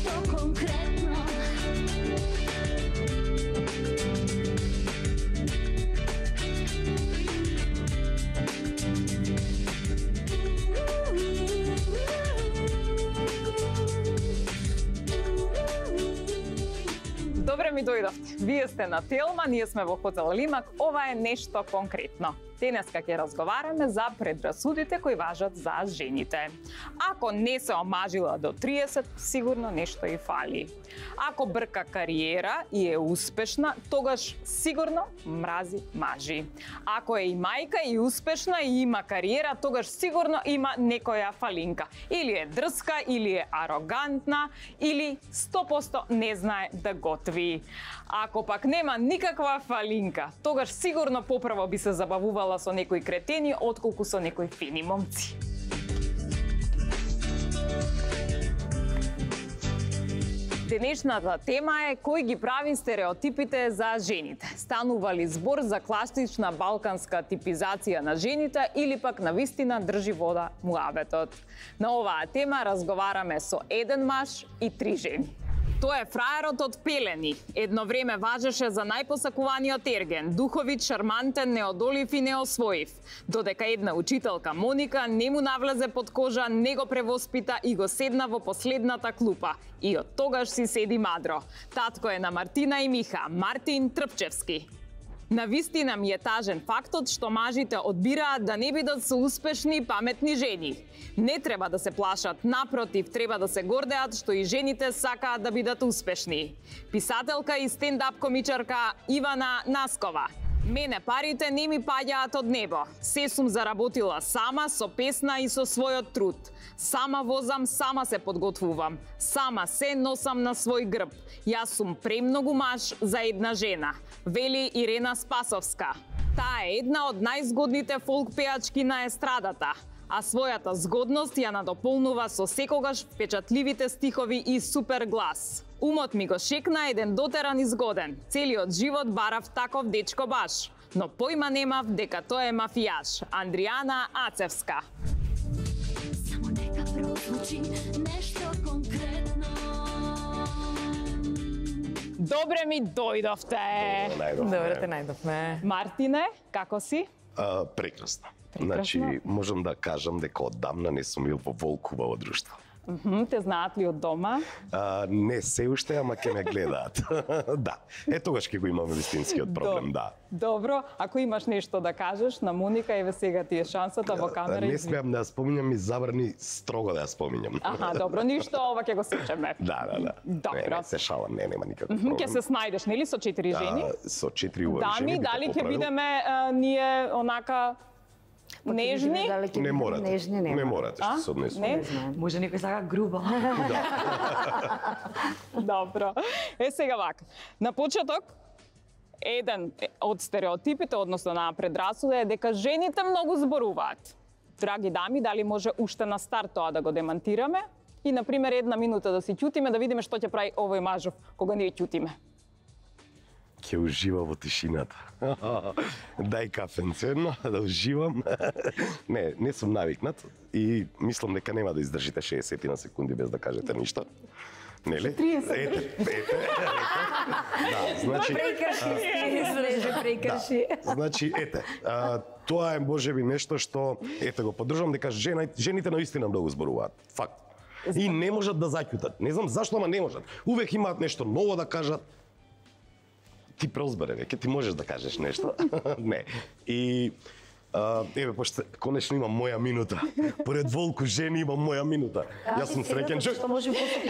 нешто конкретно. Добре ми дојдовте. Вие сте на Телма, ние сме во хотел Лимак. Ова е нешто конкретно. Денеска ќе разговараме за предрасудите кои важат за жените. Ако не се омажила до 30, сигурно нешто и фали. Ако брка кариера и е успешна, тогаш сигурно мрази мажи. Ако е и мајка и успешна и има кариера, тогаш сигурно има некоја фалинка. Или е дрска, или е арогантна, или 100% не знае да готви. Ако пак нема никаква фалинка, тогаш сигурно поправо би се забавувала со некои кретени, отколку со некои фини момци. Денешната тема е кој ги прави стереотипите за жените. Станува ли збор за класична балканска типизација на жените или пак навистина држи вода муабетот? На оваа тема разговараме со еден маж и 3 жени. Тоа е фраерот од Пелени. Едно време важеше за најпосакуваниот ерген, духовит, шармантен, неодолив и неосвоив. Додека една учителка Моника не му навлезе под кожа, не го превоспита и го седна во последната клупа. И од тогаш си седи мадро. Татко е на Мартина и Миха, Мартин Трпчевски. Навистина ми е тажен фактот што мажите одбираат да не бидат со успешни и паметни жени. Не треба да се плашат, напротив, треба да се гордеат што и жените сакаат да бидат успешни. Писателка и стендап комичарка Ивана Наскова. Мене парите не ми паѓаат од небо. Се сум заработила сама, со песна и со својот труд. Сама возам, сама се подготвувам. Сама се носам на свој грб. Јас сум премногу маж за една жена, вели Ирена Спасовска. Таа е една од најзгодните фолк пеачки на естрадата, а својата згодност ја надополнува со секогаш впечатливите стихови и супер глас. Умот ми го шекна еден дотеран и згоден. Целиот живот барав таков дечко баш, но појма немав дека тој е мафијаш. Андријана Ацевска. Само нека прозвучи нешто конкретно. Добре ми дојдовте. Добре те најдовме. Мартине, како си? Прекрасно. Прекрасно. Значи, можам да кажам дека оддамна не сум бил во волкуваво друштво. Те знаат ли од дома? Не се уште, ама ќе ме гледаат. Да. Тогаш ќе го имаме вистинскиот проблем, да. Добро, ако имаш нешто да кажеш на Моника, еве сега ти е шансата во камера. Не смеам да ја споминам и забрани строго да ја споминам. Аха, добро, ништо, ова ќе го сечеме. Да. Добро. Не, се шалам, нема никаков проблем. Ќе се снајдеш, нели, со 4 жени? Со 4 убави жени. Дами, дали ќе бидеме ние онака нежни? Не морате. Нежни нема. Не морате што се однесува. Не? Може некој сака грубо. Добро. Сега вака. На почеток, еден од стереотипите, односно на предрасуда е дека жените многу зборуваат. Драги дами, дали може уште на старт тоа да го демантираме? И, например, 1 минута да си ќутиме, да видиме што ќе прави овој мажов кога ние ќутиме. Ќе ужива во тишината. Дај кафенце едно, да уживам. Не сум навикнат и мислам дека нема да издржите 60 на секунди без да кажете ништо. Нели? 30. Ете. Да, значи... Прекрши. Да. Значи, тоа е можеби нешто што, го поддржувам дека жените наистина многу зборуваат. Факт. И не можат да заќутат. Не знам зашто, ама не можат. Увек имаат нешто ново да кажат. Ти прозбере, веќе ти можеш да кажеш нешто. Не. И еве, пошто конечно имам моја минута. Поред волку жени имам моја минута. Јас сум среќен човек. Што може после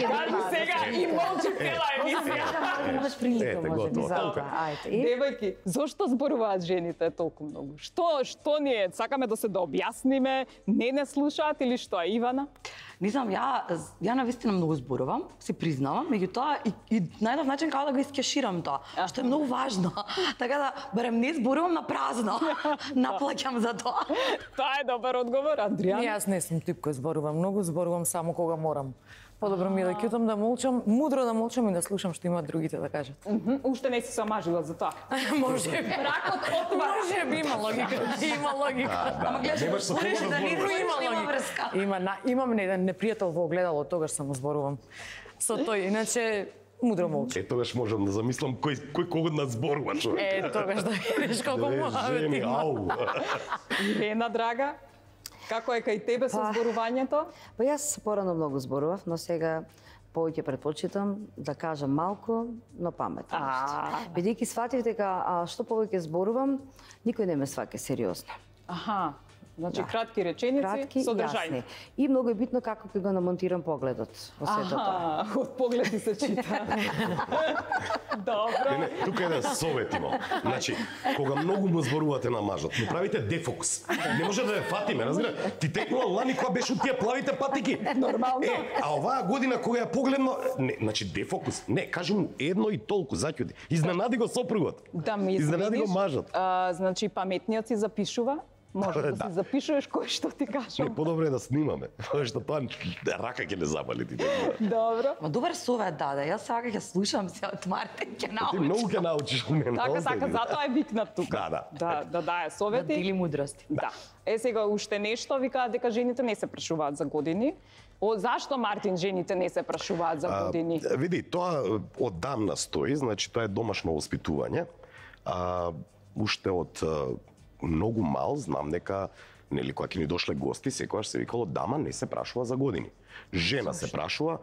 Сега и молчи цела емисија. Имаш прилика, може би, за толку. ова. Ајде. Девојки, зошто зборуваат жените толку многу? Што ние сакаме да се да објасниме, не слушаат или што е, Ивана? Не знам, ја навистина многу зборувам, си признавам, меѓутоа и најдов начин како да го искеширам тоа, што е многу важно. Така да барем не зборувам на празно. Наплаќам за тоа. Тоа е добар одговор, Андријан. Јас не сум тип кој зборувам многу, зборувам само кога морам. Подобро ми е да ќутам да молчам, мудро да молчам и да слушам што имаат другите да кажат. Уште не си се омажила за тоа. Може би. Ракот отвара. Може би има логика. Има логика. Ама гледаш, Немаш со можеш кого да да не зборуваш. има врска. Имам еден непријател во огледало, тогаш само зборувам. Со тој, иначе мудро молчам. Тогаш можам да замислам кој кого да зборува човек. Тогаш да видиш колку муавет Жени, има. ау. Ирена, драга, како е кај тебе со зборувањето? Па јас порано многу зборував, но сега повеќе предпочитам да кажам малку, но паметно нешто. Бидејќи сватив дека што повеќе зборувам, никој не ме сваќа сериозно. Аха, значи кратки реченици, Кратки и содржајни. јасни. И многу е битно како ќе го намонтирам погледот во сето тоа. Од погледи се чита. Добро. Не, тука еден совет имам. Значи, кога многу му зборувате на мажот, му правите дефокс. Не може да ја фатиме, разбира? Ти текнува лани кога беше од тие плавите патики. Нормално. А оваа година кога ја погледно, не, значи дефокус. Не, кажи му едно и толку заќуди. Изненади го сопругот. Да ми Изненади го извиниш, мажот. Значи паметниот си запишува, може да Да. си запишуваш кој што ти Не, кажам. подобро е да снимаме. Што тоа рака ќе не запали ти. Добро. Ма добар совет даде. Јас сега ќе слушам се од Мартин ќе Ти научам. многу ќе научиш од мене. Така, остави. затоа е викнат тука. Да. Да дае Да совети. дели мудрости. Да. Сега уште нешто, викаат дека жените не се прашуваат за години. Зашто, Мартин, жените не се прашуваат за години? Види, тоа оддамна стои, значи тоа е домашно воспитување. Уште од многу мал знам дека нели кога ќе ни дошле гости, секогаш се викало дама не се прашува за години. Жена се прашува,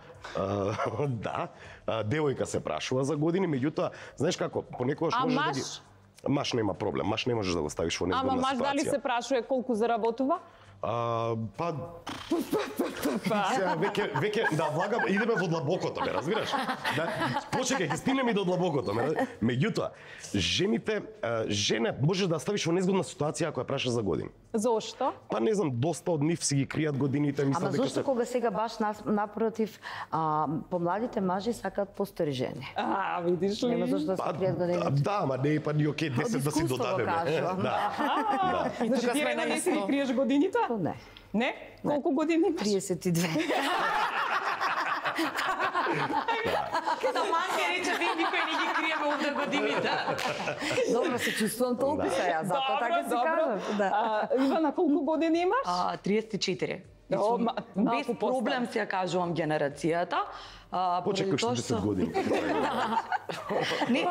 да, девојка се прашува за години, меѓутоа, знаеш како, понекогаш А можеш маж? да ги Маш нема проблем, маш не можеш да го ставиш во незгодна Ама маж ситуација. дали се прашува колку заработува? Па сега веќе да влагам, идеме во длабокото, ме разбираш? Да, почекај, ќе стигнеме и до длабокото, меѓутоа, жените, жена можеш да ставиш во незгодна ситуација ако ја прашаш за години. Зошто? Па не знам, доста од нив си ги кријат годините, Ама мислам дека зошто кога сега баш напротив, помладите мажи сакаат постари жени? Видиш ли? Нема зошто да се кријат годините. Да, ма не, па ни окей, 10 да си искуство го додадеме. кажувам. Да. Значи, тука ти сме Ирена на не си исто. ги криеш годините? Не. Не? Колку години имаш? 32. Када Манке рече, вие никој не ги криеме овде годините. Добро се чувствувам толку сега, затоа така си кажам. Да. Ивана, колку години имаш? 34. О, Без проблем си ја кажувам генерацијата. Почекај уште 10 години. Не,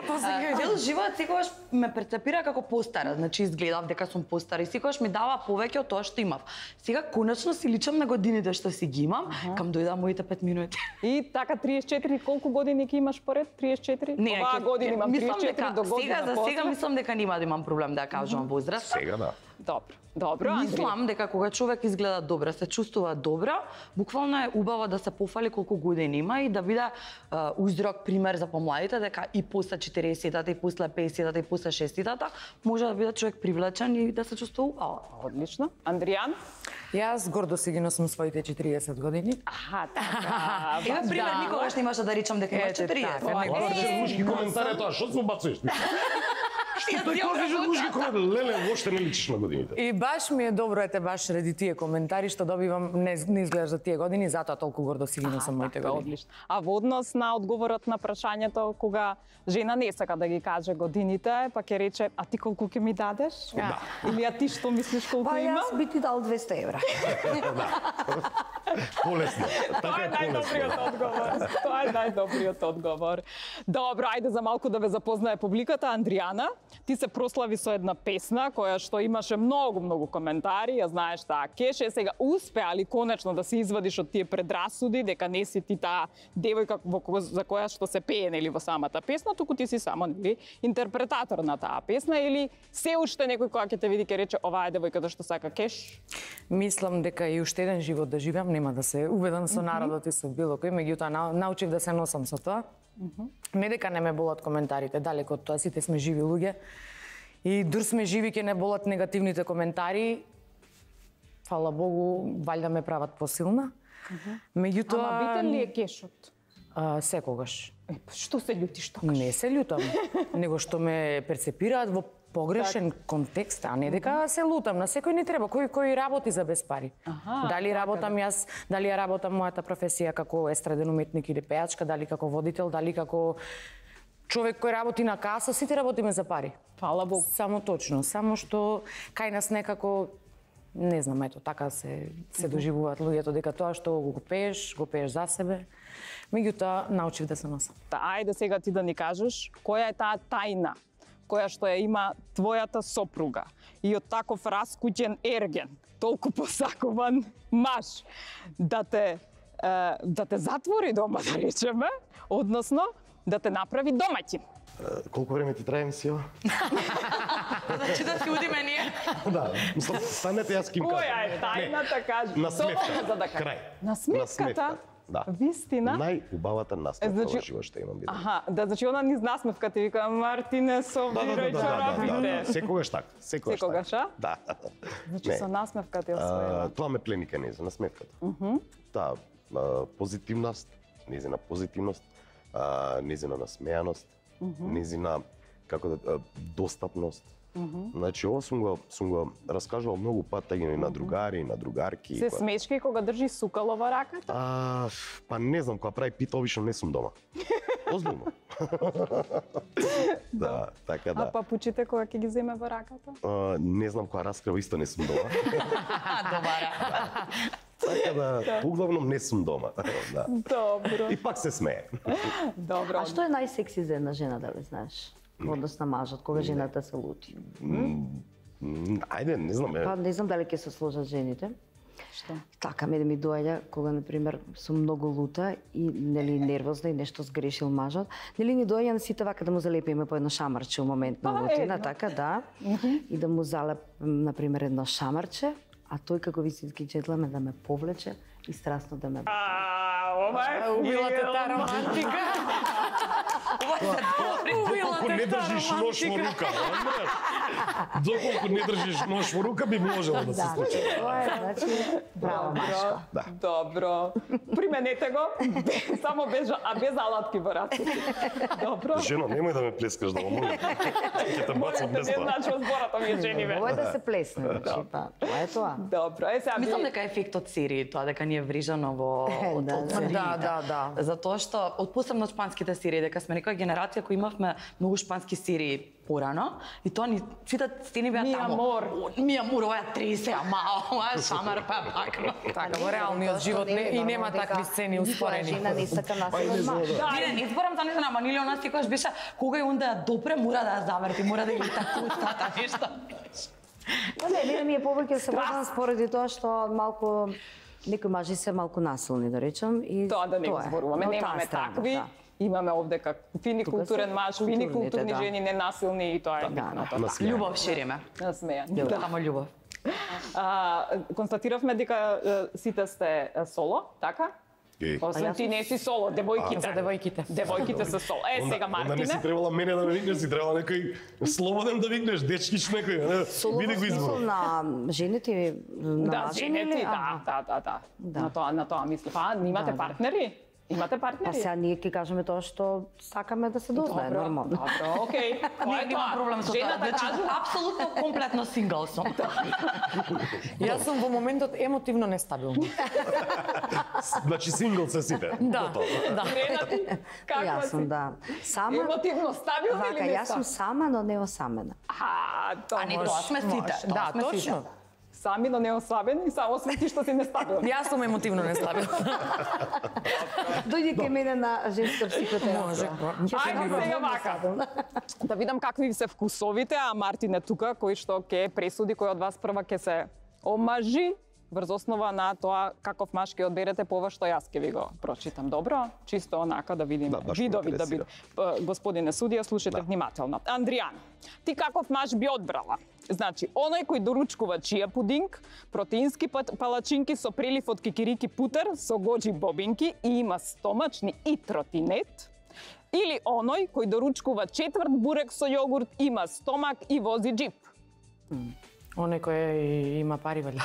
цел живот секогаш ме перцепира како постара, значи изгледав дека сум постара и секогаш ми дава повеќе од тоа што имав. Сега конечно си личам на годините што си ги имам, кам дојда моите 5 минути. И така 34, колку години ќе имаш поред? 34? Оваа година имам 34 до година. Сега за сега после. мислам дека нема да имам проблем да ја кажувам возраст. Сега да. Добро, Андри. Мислам дека кога човек изгледа добро, се чувствува добро, буквално е убаво да се пофали колку години има и да биде узрок пример за помладите дека и после 40-тата, и после 50-тата, и после 60-тата може да биде човек привлечен и да се чувствува убаво. Одлично. Андријан? Јас гордо си ги носам своите 40 години. Аха, така. Еве пример, никогаш немаше да речам дека имаш Ете, 40. така, не го Баче лушки коментари тоа, што се бациш? Што тој кажеш лушки коментари? Леле, воопште не личиш на годините. И баш ми е добро ете баш ради тие коментари што добивам не изгледаш за тие години, затоа толку гордо си ги носам моите Така, години. одлично. А во однос на одговорот на прашањето кога жена не сака да ги каже годините, па ќе рече, а ти колку ќе ми дадеш? Да. Или а ти што мислиш колку Па има? јас би ти дал 200 евра. Полесно. Тоа Така е е полесно. најдобриот одговор. Тоа е најдобриот одговор. Добро, ајде за малку да ве запознае публиката. Андријана, ти се прослави со една песна која што имаше многу коментари, ја знаеш таа кеше, сега успеа ли конечно да се извадиш од тие предрасуди дека не си ти таа девојка за која што се пее нели во самата песна, туку ти си само нели интерпретатор на таа песна или се уште некој која ќе те види ќе рече оваа е девојката што сака кеш? Мислам дека и уште еден живот да живеам, нема да се уведам со народот и со било кој, меѓутоа научив да се носам со тоа. Не дека не ме болат коментарите, далеко од тоа, сите сме живи луѓе. И дур сме живи ке не болат негативните коментари. Фала Богу, валјда ме прават посилна. Меѓутоа Ама битен ли е кешот? секогаш. Што се љутиш тоа? Не се љутам, него што ме перцепираат во погрешен контекст, а не дека се лутам. На секој не треба, кој работи за без пари. Дали работам јас, дали ја работам мојата професија како естраден уметник или пејачка, дали како водител, дали како човек кој работи на каса, сите работиме за пари. Фала Богу. Само точно, само што кај нас некако не знам, ето така се доживуваат луѓето дека тоа што го пееш за себе. Меѓутоа научив да се носам. Ајде сега ти да ни кажеш која е таа тајна која што ја има твојата сопруга и од таков раскуќен ерген, толку посакуван маж, да те затвори дома, да речеме, односно да те направи домаќин. Колку време ти трае емисија? Значи да си удиме ние. Да, мислам, станете јас ким кажам. Која е тајната, кажи? На сметка. За да кажа. Крај. На сметката? Да. Вистина? Најубавата насмевка во живот што имам видено. Аха, да, значи она низ насмевка ти вика Мартине, собирај чарапите. Секогаш така. Секогаш, а? Да. Значи со насмевка ти освоила. Тоа ме плени кај нејзина насмевката. Таа позитивност, нејзина позитивност, нејзина насмеаност, нејзина како да достапност. Значи, ова сум го раскажувал многу пат и на другари, и на другарки. Се смешки кога држи сукало во раката? Па не знам, кога прави пита, обично не сум дома. Озбилно. Да, така да. А папучите кога ќе ги земе во раката? Не знам, кога раскрива исто не сум дома. Добара. Така да, углавном не сум дома. Да. Добро. И пак се смее. Добро. А што е најсекси за една жена, да ли знаеш? Во однос на мажот, кога жената се лути? Ајде, не знам. Па не знам дали ќе се сложат жените. Што? Така ме да ми доаѓа кога на пример сум многу лута и нели нервозна и нешто сгрешил мажот. Нели ни доаѓа на сите вака да му залепиме по едно шамарче у момент на лутина, така да. И да му залеп на пример едно шамарче, а тој како вистински джентлмен да ме повлече и страстно да ме Ова е Убилате таа романтика. Доколку не држиш нож во рука, знаеш? Доколку не држиш нож во рука би можело да се случи. Тоа е, значи, браво машко. Да. Добро. Применете го, само без алатки во раците. Добро. Жено, немој да ме плескаш да молам. Ќе те бацам без Не тоа. значи од збората ми е жениве. Ова е да се плесне, значи, па, тоа е тоа. Добро, сега Мислам дека е ефектот серии, тоа дека ни е врижано во од сериите. Да. Затоа што од посебно шпанските серии, дека сме некоја генерација која имавме многу шпански серии порано и тоа ни сите сцени беа Ми таму. амор. Ми амор, ова е 30, ама ова е шамар па пак. Така, во реалниот живот и нема такви сцени успорени. Жена не сака насилен маж. Не зборам за незна, ама нели она секогаш беше кога и онда ја допре, мора да ја заврти, мора да ги така устата нешто. Не, ми е повеќе се водам споради тоа што малку некои мажи се малку насилни, да речам, и Тоа да не го е. зборуваме, Но таа немаме страна, такви. да. Имаме овде как фини Тука културен се маж, фини културните, културни да. жени, ненасилни и тоа е битното. Насмејан. Љубов шириме. Насмејан. Само љубов. Констатиравме дека сите сте соло, така? Освен ти не си соло, девојките. За девојките. Девојките се соло. Сега Onda ne si Мартине. trebala mene da me vikneš, si trebala nekoj slobodен да викнеш, дечкич некој, не? Соло Биди во го смисол избор. на жените, на Да, мажи женети, или? да. Да. На тоа мислам. А, имате Да. партнери? Имате Па партнери? сега ние ќе кажеме тоа што сакаме да се дознае, нормално. Добро, окей. Тоа е Немам тоа. проблем со тоа. Жената Значи, кажува, апсолутно комплетно сингл сум. Јас сум во моментот емотивно нестабилна. Значи сингл се сите. Да, Готово. да. Жената ти, каква Јас си? сум, да. Сама, Емотивно стабилна вака, или не јас сум сама, но не осамена. тоа А не може. тоа сме сите. Да, Тоа сме сите. точно. Сами, но не ослабени, само сме ти што си нестабилни. Јас сум емотивно нестабилна. Дојди ке мене на женска психотерапија. Може. Ајде сега вака. Да видам какви се вкусовите, а Мартин е тука, кој што ќе пресуди кој од вас прва ќе се омажи врз основа на тоа каков маж ќе одберете по ова што јас ќе ви го прочитам. Добро? Чисто онака да видиме Да, баш ме видови да интересира. Господине судија, слушате внимателно. Андријан, ти каков маж би одбрала? Значи, оној кој доручкува чија пудинг, протеински палачинки со прилив од кикирики путер, со гоџи бобинки и има стомачни и тротинет, или оној кој доручкува четврт бурек со јогурт, има стомак и вози джип? Оној кој има пари валја.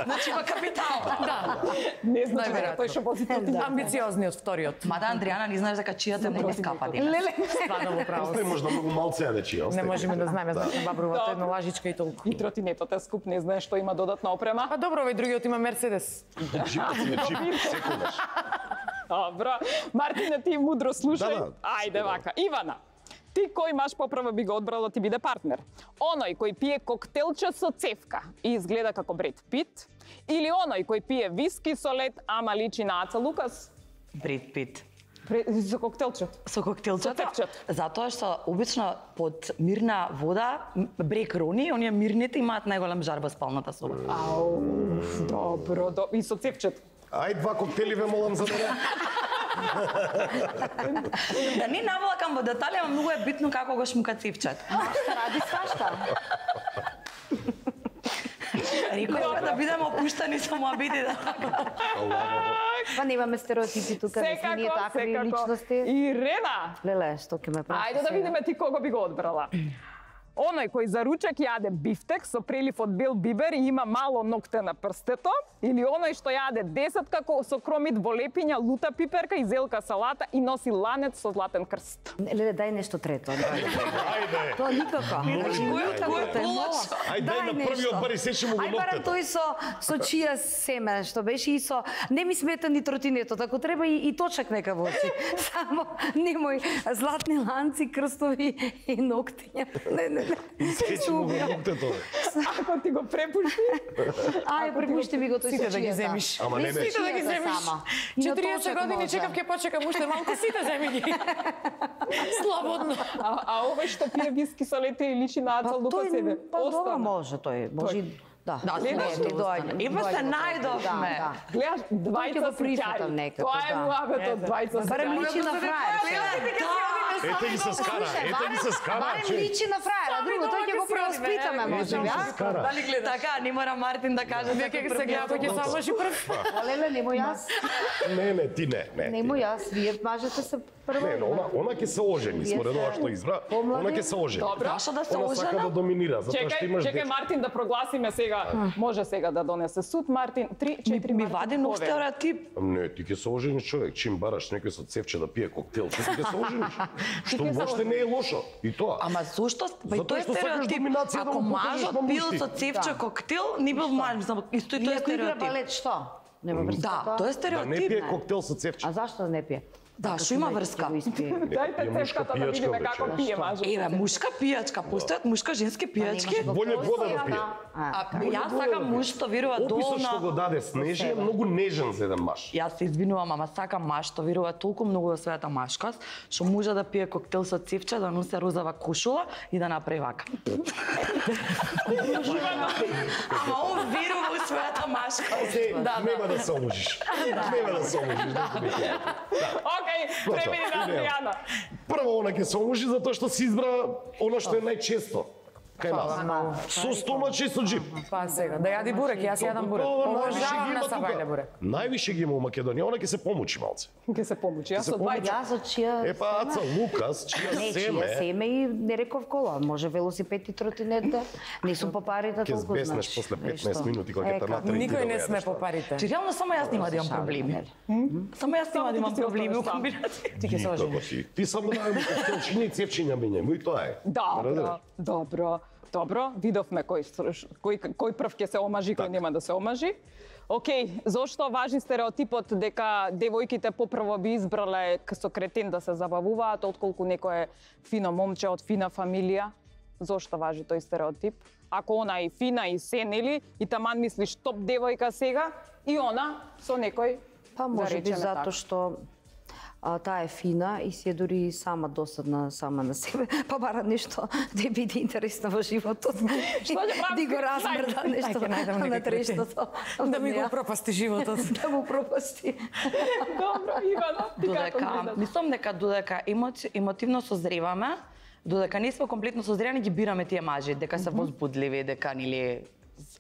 Значи има капитал. Да. Не значи дека Најверојатно. тој што вози тротинет. Амбициозниот вториот. Мада Андријана не знаеш дека чијата не ги скапа денес. Леле. Стварно во право. Остави можда многу малце да чија. Не можеме да знаеме, значи бабрувато Да. едно лажичка и толку. И тротинетот е скуп, не знаеш што има додатна опрема. Па добро, овој другиот има Мерцедес. Джипот си чип, секогаш. Добро. Мартине, ти мудро слушај. Да. Ајде вака. Ивана, ти кој маж поправо би го одбрала ти биде партнер? Оној кој пие коктелче со цевка и изгледа како Бред Пит? Или оној кој пие виски со лед, ама личи на Аца Лукас? Бред Пит. Со коктелче. Со коктелчето, Со цевчето. затоа што обично под мирна вода, брек рони, оние мирните имаат најголем жар во спалната соба. Ау, добро, и со цевчето. Ај, 2 коктели ве молам за мене. Да не навлакам во детали, ама многу е битно како го шмука цевчето. Машта ради свашта. Рекој да бидеме опуштани со моабитите. Па немаме стереотипи тука, не сме ние такви личности. Ирена, Леле, што ќе ме прати ајде да сега? видиме ти кого би го одбрала. Оној кој за ручек јаде бифтек со прелив од бел бибер и има мало ногте на прстето, или оној што јаде 10 со кромит во лепиња, лута пиперка и зелка салата и носи ланец со златен крст. Леле, дај нешто трето. Ајде. Тоа никако. Значи, никако кој те полоч? мола. Ајде, дај на првиот бар и сечи му го Ај барам ноктето. тој со чија семе, што беше и со... Не ми смета ни тротинетот, ако треба и точак нека вози. Само немој златни ланци, крстови и ноктиња. Не. Сечи му го ноктето. Ако ти го препушти, Ај, препушти ми го тој Сите со да ги чијата. земиш. Ама не беше. Сите да ги Чијата земиш. сама. 40 точак години може. чекав ке почекам уште малку, сите земи ги. Слободно. а овој што пие виски со лете и личи на Аца Лука себе. Па добро Остана. може тој. Може да. Да, не, ти доаѓа. Ева се најдовме. Да. Гледаш, ќе го двајца прифатам сеќари. некако, Тоа е да. муабетот, двајца Барем сеќари. личи на фраер. Ете ги се скара, ете ги се скара. Барем че. личи на фраера, друго тој ќе го преоспитаме, може би, а? Скара. Дали гледаш? Така, не мора Мартин да каже Вие ќе се гледа кој ќе се омажи прв. Леле, немој јас. Не, ти не. Немој јас, вие мажете се прво. Не, она ќе се ожени, според ова што избра, Помлади. она ќе се ожени. Зашо да се Она сака да ожена? доминира, затоа што имаш Чекај дете. Мартин да прогласиме сега. Може сега да донесе суд Мартин. 3-4 Ми вади нов стереотип. Не, ти ќе се ожениш човек, чим бараш некој со цевче да пие коктел, ти ќе се ожениш. Што ќе се воопште не е лошо. И тоа. Ама зошто? Па и Затоа тој е што сакаш стереотип. доминација да Ако му покажеш мажот на пил мушти. со цевче коктел, не бил маж, исто и тој е Иако игра стереотип. балет, што? Нема врска Да, тоа? тој е Да не стереотип. пие коктел со цевче. А зашто да не пие? Да, што има врска? Дајте Е, мушка цевката да пијачка, видиме бе, како човек. пие мажот. Еве, мушка пијачка, постојат мушка женски пијачки. Боле вода да пие. А јас сакам муж што верува Описот што го долна. даде Снежи е многу нежен за еден маж. Јас се извинувам, ама сакам маж што верува толку многу во својата машкост, што може да пие коктел со цевче, да носи розова кошула и да направи вака. Ама он верува во својата машкост. Нема да се омажиш. Нема да се омажиш. Океј, премини на Адријана. Прво, она ќе се омажи затоа што си избра она што е најчесто. Кај нас. Со стомач и со джип. Па сега, да јади бурек, јас јадам бурек. Обожавам на сабајле бурек. Највише ги има у Македонија, она ќе се помучи малце. Ќе се помучи. Јас се од двајца. Јас од чија... Е па Аца Лукас, чија Не, чија семе, семе и не реков кола. Може велосипед и тротинет да... Не сум по парите ќе толку, збеснеш значи. после Е, 15 што? минути кога ќе те Ека. натри. Никој не сме по парите. Чи реално само јас нема да имам проблеми. Само јас нема да имам проблеми у комбинација. Ти ќе се Никако ожениш. ти. Ти само да имаш коктелчиња и цевчиња мењај, и тоа е. Добро. Видовме кој прв ќе се омажи, кој нема да се омажи. Океј, зошто важи стереотипот дека девојките попрво би избрале со кретен да се забавуваат, отколку некое фино момче од фина фамилија? Зошто важи тој стереотип? Ако она е фина и се, нели, и таман мислиш топ девојка сега, и она со некој, Па да може би речеме затоа така. што таа е фина и си е дури сама досадна сама на себе, па бара нешто да биде интересно во животот. Што ќе правиш? Ди го размрда нешто Ќе најдам на некој трештото. Да ми го пропасти животот. Да му пропасти. Добро, Ивана, ти како Додека, гледаш? мислам дека додека емотивно созреваме, додека не сме комплетно созрени, ги бираме тие мажи, дека се возбудливи, дека нели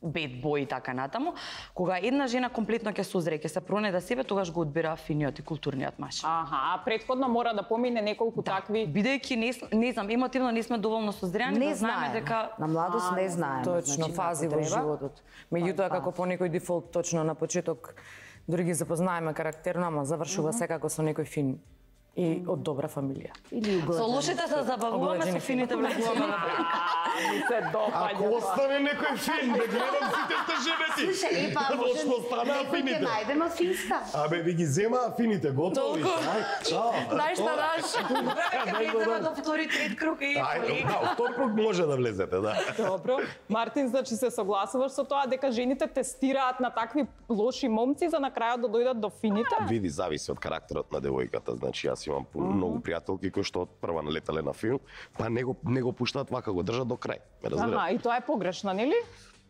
bad boy и така натаму. Кога една жена комплетно ќе созре, ќе се пронајде себе, тогаш го одбира финиот и културниот маж. Аха, предходно мора да помине неколку такви. Бидејќи не знам, емотивно не сме доволно созреани Не да знаеме знаеме. дека На младост не знаеме. Точно, Значи, фази како во треба. животот. Меѓутоа, како по некој дефолт, точно на почеток, дури ги запознаеме карактерно, ама завршува секако со некој фин и од добра фамилија. Или со угледен. лошите се забавуваме, со фините влегуваме на брак. Ми се допаѓа. Ако остане некој фин, да гледам сите сте женети. Слушај, епа, може Што стана некој ќе фините? најдеме од финска. Абе, ви ги зема фините, готови. Ај, чао. Дај што даш. Треба до втори, трет круг и Ај, да, втор круг може да влезете, да. Добро. Мартин, значи се согласуваш со тоа дека жените тестираат на такви лоши момци за на крајот да дојдат до фините? Види, зависи од карактерот на девојката. Значи, јас имам многу пријателки кои што од прва налетале на филм, па не го пуштаат вака, го држат до крај. Ме разбираш? Аха, и тоа е погрешно, нели?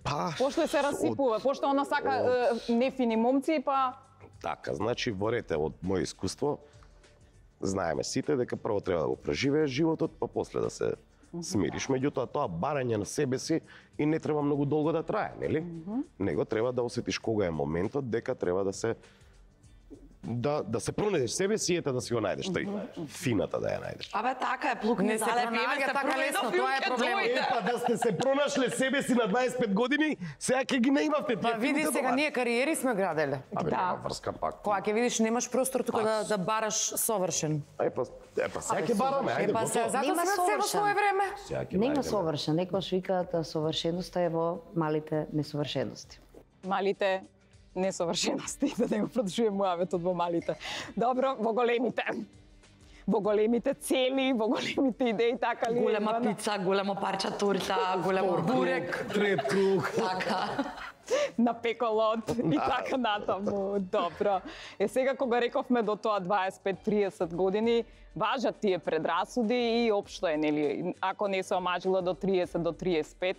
Па, Пошто се расипува, пошто она сака нефини момци, па така, значи, во рете од моје искуство, знаеме сите дека прво треба да го преживееш животот, па после да се смириш. Меѓутоа, тоа барање на себе си и не треба многу долго да трае, нели? Него треба да осетиш кога е моментот дека треба да се се пронајдеш себе си, ете да си го најдеш, тој фината да ја најдеш. Абе, така е, плук не се залепи, пронаѓа се така пронајде лесно, филм, тоа е ќе проблемот. дојде. Епа, да сте се пронашле себе си на 25 години, сега ќе ги не имавте тие Па види филмите сега, дома. ние кариери сме граделе. Абе, Да. нема врска пак. Кога ќе видиш немаш простор тука да бараш совршен. Епа, сега ќе бараме, ајде, Епа се, готово. затоа Нема сме се во совршен. свое време. Сега ќе Нема најдеме. совршен, некојаш викаат совршеноста е во малите несовршености. малите несовршености, да не го продолжуваме муаветот во малите. Добро, во големите. Во големите цели, во големите идеи, така ли? Голема Ивана? пица, големо парче торта, големо бурек. Трет круг. Така. На пеколот и така натаму. Добро. Сега кога рековме до тоа 25-30 години, важат тие предрасуди и општо е, нели, ако не се омажила до 30 до 35,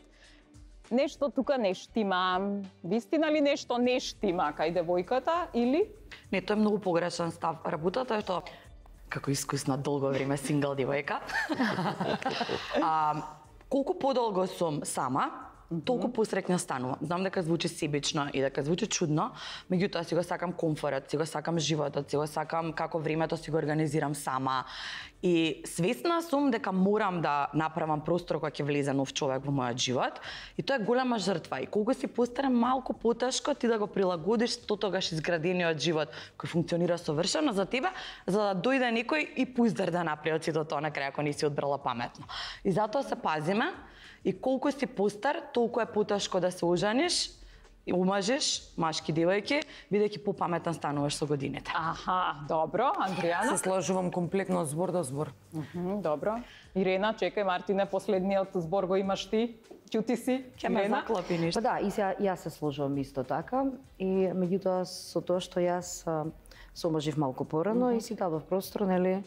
нешто тука не штима. Вистина ли нешто не штима кај девојката или? Не, тоа е многу погрешен став. Работата е што како искусна долго време сингл девојка. Колку подолго сум сама, толку посреќна станувам. Знам дека звучи себично и дека звучи чудно, меѓутоа си го сакам комфорот, си го сакам животот, си го сакам како времето си го организирам сама. И свесна сум дека морам да направам простор кога ќе влезе нов човек во мојот живот. И тоа е голема жртва. И колку си постарам малку потешко ти да го прилагодиш тогаш изградениот живот кој функционира совршено за тебе, за да дојде некој и пуздар да направи од сето тоа на крај ако не си одбрала паметно. И затоа се пазиме. И колку си постар, толку е потешко да се ожениш, и омажеш машки девојки, бидејќи попаметен стануваш со годините. Аха, добро. Андријана? Се сложувам комплетно збор до збор. Добро. Ирена, чекај, Мартине, последниот збор го имаш ти. Ќути си. Ќе ме Ирена? заклопи ништо. Па да, и сега јас се сложувам исто така и меѓутоа со тоа што јас се омажив малку порано и си дадов простор, нели,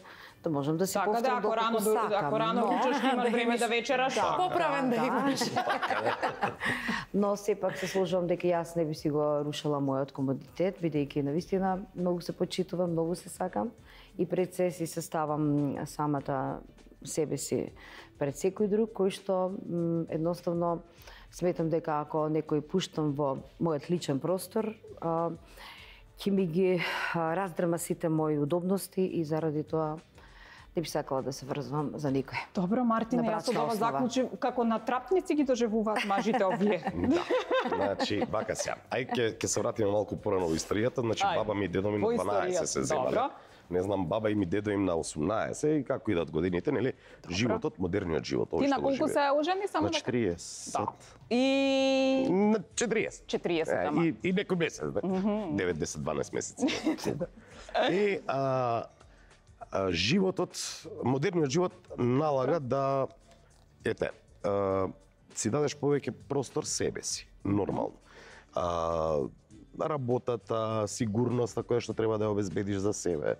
да можам да си Така да, повторам ако рано, доколку сакам. ако рано учиш, имаш време да вечераш. Поправен да имаш. Но сепак се сложувам дека јас не би си го рушила мојот комодитет, бидејќи навистина многу се почитувам, многу се сакам и пред се си се ставам самата себе си пред секој друг, кој што едноставно сметам дека ако некој пуштам во мојот личен простор, ќе ми ги раздрма сите мои удобности и заради тоа не би сакала да се врзвам за никој. Добро, Мартине, На јас од брачна ова основа. заклучив како на трапници ги доживуваат мажите овие. Да. Значи, вака сега. Ај ќе се вратиме малку порано во историјата. Значи, Ај, баба ми и дедо ми во на 12 историјата, се земале. добро. Не знам, баба и ми дедо им на 18 и како идат годините, нели? Животот, модерниот живот, овој Ти на што го колку живеат. се ожени само На 40. Да. И На 40. 40, ама. И некој месец, да? 9, 10, 12 месеци. И животот, модерниот живот налага да си дадеш повеќе простор себе си, нормално. Работата, сигурноста која што треба да ја обезбедиш за себе,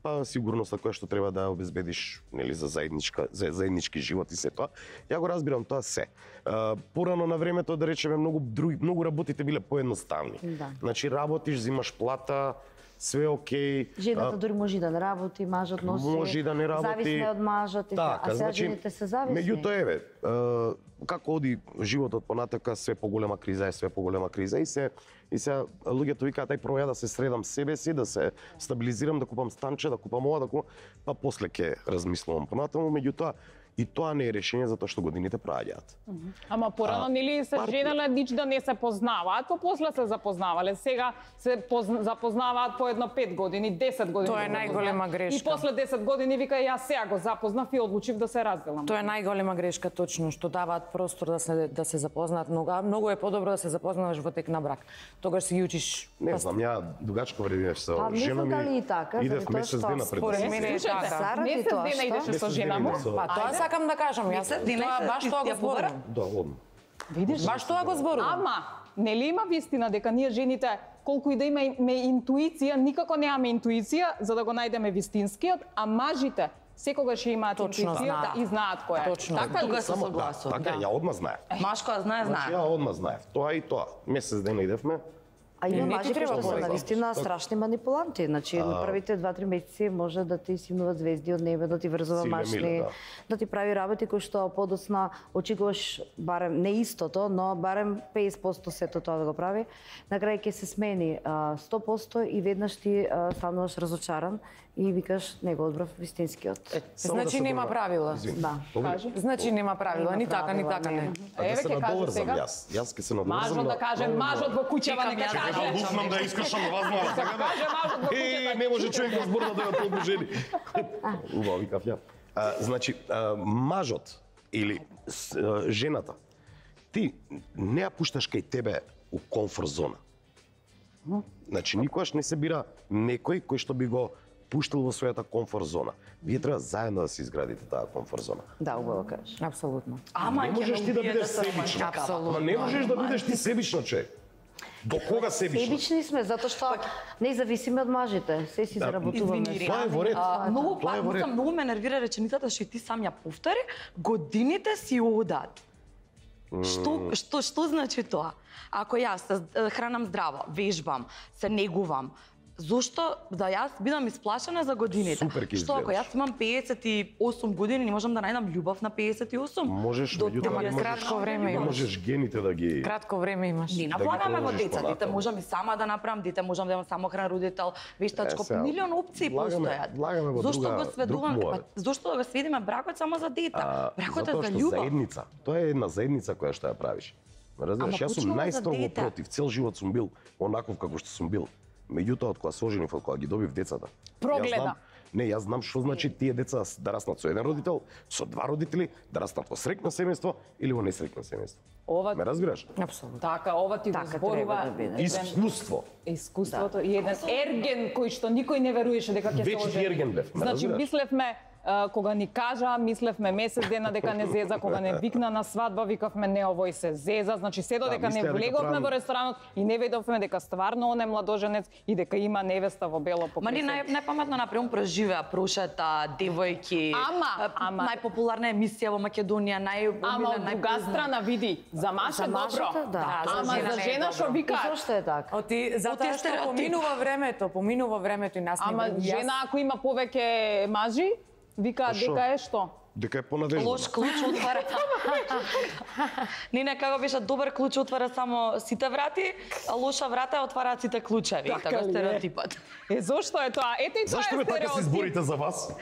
па сигурноста која што треба да ја обезбедиш, нели, за заеднички живот и се тоа. Ја го разбирам тоа се. Порано на времето, да речеме, многу работите биле поедноставни. Да. Значи работиш, зимаш плата, све окей. Жената дури може и да не работи, мажот носи. Може и да не работи. Зависна од мажот и така. а сега жените се зависни. Меѓутоа еве, како оди животот понатака, све поголема криза е, све поголема криза и сега луѓето викаат ај проја да се средам себе си, да се стабилизирам, да купам станче, да купам ова, да купам, па после ќе размислувам понатаму, меѓутоа и тоа не е решение затоа што годините проаѓаат. Ама порано нели се женеле нич да не се познаваат, па после се запознавале. Сега се запознаваат по едно 5 години, 10 години. Тоа е најголема грешка. И после 10 години вика јас сега го запознав и одлучив да се разделам. Тоа е најголема грешка точно, што даваат простор да се запознаат многу е подобро да се запознаваш во тек на брак. Тогаш си ги учиш. Не знам, ја дугачко време со Па, жена мислам дали и така, идев заради тоа месец што дена пред според да се мене е среќаме. така. Заради Месец тоа дена што? идеше со жена му. Па тоа сакам да кажам, јас тоа баш тоа го зборувам. Видиш? Баш тоа го зборувам. Ама, нели има вистина дека ние жените, колку и да имаме интуиција, никако немаме интуиција за да го најдеме вистинскиот, а мажите секогаш имаат Точно интуиција знаат. и знаат кој е. Точно. Така ли? Тука се Само согласувам. така, ја одма знаев. Машко знае, Значи, знае. ја одма знаев. Тоа и тоа. Месец дена идевме. А има не ти мажи кои треба што се повеќе. навистина страшни манипуланти. Значи, на првите 2-3 месеци може да ти симнуваат звезди од небе, да ти врзува Силе машни, миле, да ти прави работи кои што подоцна очекуваш барем не истото, но барем 50% сето тоа да го прави. На крај ќе се смени 100% и веднаш ти стануваш разочаран и викаш не го одбрав вистинскиот. Само Значи се нема добра- правила. Извини. Да. Кажи. Значи нема правила, Нема ни така, ни правила, така не. не. А да Еве се ќе кажам надоврзам сега. јас ќе се надоврзам. Мажот да каже, мажот во куќава нека Чекам јас. каже. Да лупнам да искршам вазмала сега да. Каже мажот во куќата. Не може човек во збор да дојде толку жени. Убаво викав ја. Значи, мажот или жената, ти не ја пушташ кај тебе у комфорт зона. Значи, никогаш не се бира некој кој што би го пуштил во својата комфорт зона. Вие треба заедно да се изградите таа комфорт зона. Да, убаво кажеш. Апсолутно. Ама Не можеш ти да бидеш себична. Ама не можеш да бидеш ти себична, човек. До кога себична? Себични сме затоа што не зависиме од мажите. Се си заработуваме. Извини, Тоа е во ред. Многу Тоа е во ред. многу ме нервира реченицата што и ти сам ја повтори, годините си одат. Што значи тоа? Ако јас се хранам здраво, вежбам, се негувам, зошто да јас бидам исплашена за годините? Супер ќе Што ако изгледаш. јас имам 58 години, не можам да најдам љубов на 58? Можеш, До меѓутоа не 30. можеш. кратко време Не имаш. можеш гените да ги Кратко време имаш. Не ги наплагаме во продолжиш деца, дете понатаму. можам и сама да направам, дете можам да имам самохран родител, вештачко, сега, милион опции постојат. влагаме во Зошто друга- го сведуваме, друг па, муавет. зошто да го сведиме бракот само за дете? Бракот е затоа за што љубов. заедница, тоа е една заедница која што ја правиш. Разбираш, Ама јас сум почнува за најстрого дете. против, цел живот сум бил онаков како што сум бил. Меѓутоа, од кога се оженив, од кога ги добив децата, Прогледа. Јас знам, јас знам што значи тие деца да раснат со еден родител, со два родители, да раснат во среќно семејство или во несреќно семејство. Ова Ме разбираш? Апсолутно. така, ова ти го Така зборува треба да биде. Искуство. искуството и еден ерген кој што никој не веруваше дека ќе се Вечни ожени. ерген бев, ме Значи разбираш? мислевме кога ни кажа, мислевме месец дена дека не зеза, кога не викна на свадба, викавме не овој се зеза, значи се додека не мислеа дека влеговме правам- во ресторанот и не видовме дека стварно он е младоженец и дека има невеста во бело Ма ни покресен. најпаметно например преживеа прошата девојки. Ама. Најпопуларна емисија во Македонија, Ама од друга страна види, за маж е За мажата, добро. да. за Ама жена за не е жена што добро. вика, И зошто е така? Оти затоа тие што стереотипи. поминува времето и нас не ама јас- жена ако има повеќе мажи, викаат што? дека е што? Дека е понадежно. Лош клуч отвара. Не, како беше добар клуч отвара само сите врати, а лоша врата отвараат сите клучеви. Така Така ли е? стереотипот. Зошто е тоа? Ете и тоа Зашто е ме така се стереотип. зборите за вас?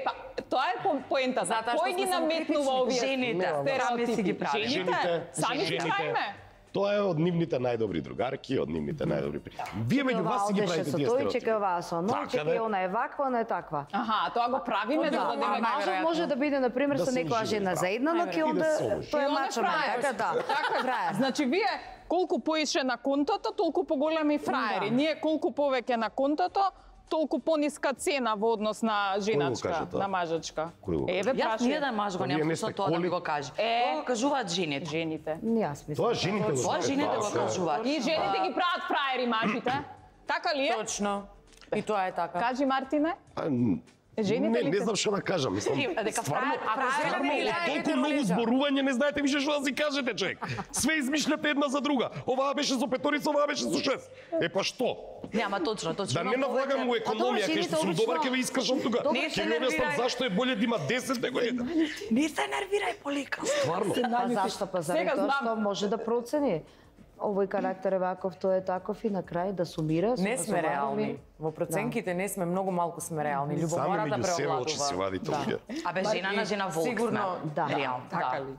Па, тоа е поентата. Затоа што Кој ги сме наметнува самокритични. овие Жените, сами си ги стереотипи? правиме. Жените? Сами си правиме. Тоа е од нивните најдобри другарки, од нивните најдобри пријатели. Вие меѓу вас си ги Одеше правите со тие тој, стереотипи. чека оваа со оној, Така, чека бе. и она е ваква, она е таква. Аха, тоа го правиме за Да, да а дека мажот може да биде, например, Да со се некоја ожени, жена да. заедна, но ќе И да онда се ожени. тој е И он е мачо, фраер. така да. Така, Фраер. значи вие колку поише на контото, толку поголеми фраери. Да. Ние колку повеќе на контото, толку пониска цена во однос на женачка, каже тоа? на мажачка. Кој го каже? Еве Јас прашај. ниеден маж го Вие немам не сте со тоа да ми коли? го каже. Е. Тоа го кажуваат жените. Жените. Не, јас мислам. Тоа жените го Тоа жените го кажуваат. И жените ги прават фраери мажите. Така ли е? Точно. И тоа е така. Кажи Мартине. Жените ли не знам што да кажам, мислам. Дека Стварно, правилно толку многу зборување, не знаете више што да си кажете, човек. Све измишляте една за друга. Оваа беше со петорица, оваа беше со 6. Е па што? Нема точно. Да не навлагам у економија, кај што сум добар ќе ве искажам тука. Не се Ќе ви објаснам нервирај. зашто е боле да има 10 него 1. Не се нервирај, Полика. Стварно. А зашто па заради Сега тоа знам. што може да процени. Овој карактер е ваков, тој е таков и на крај да сумира. Не сме реални. Во проценките не сме, многу малку сме реални. Сами Љубомората меѓу себе очи си преовладува. вадите луѓе. Абе, жена на жена волк Сигурно, сме. да. Реално. Така ли?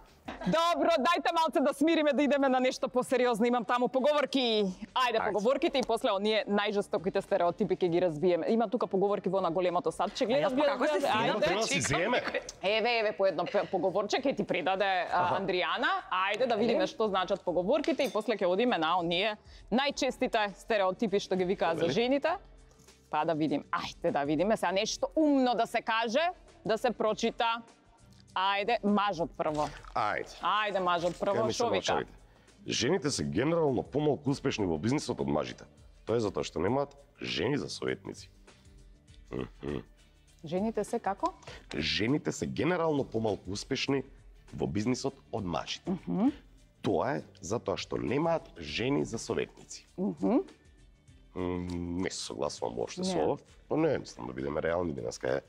Добро, дајте малце да смириме, да идеме на нешто посериозно. Имам таму поговорки. Ајде, поговорките и после оние најжестоките стереотипи ќе ги разбиеме. Има тука поговорки во на големото садче. Гледаш, Јас па како се Треба да си земе. Еве, по едно поговорче ќе ти придаде Андријана. Ајде да видиме што значат поговорките и после ќе одиме на оние најчестите стереотипи што ги викаат за жените. Па да видим. Ајде да видиме сега нешто умно да се каже, да се прочита. Ајде, мажот прво. Ајде. Ајде, мажот прво, Кај ми се што вика? мачавите. Жените се генерално помалку успешни во бизнисот од мажите. Тоа е затоа што немаат жени за советници. Жените се како? Жените се генерално помалку успешни во бизнисот од мажите. Тоа е затоа што немаат жени за советници. Не се согласувам воопшто со Не. ова. Но не, мислам да бидеме реални денеска е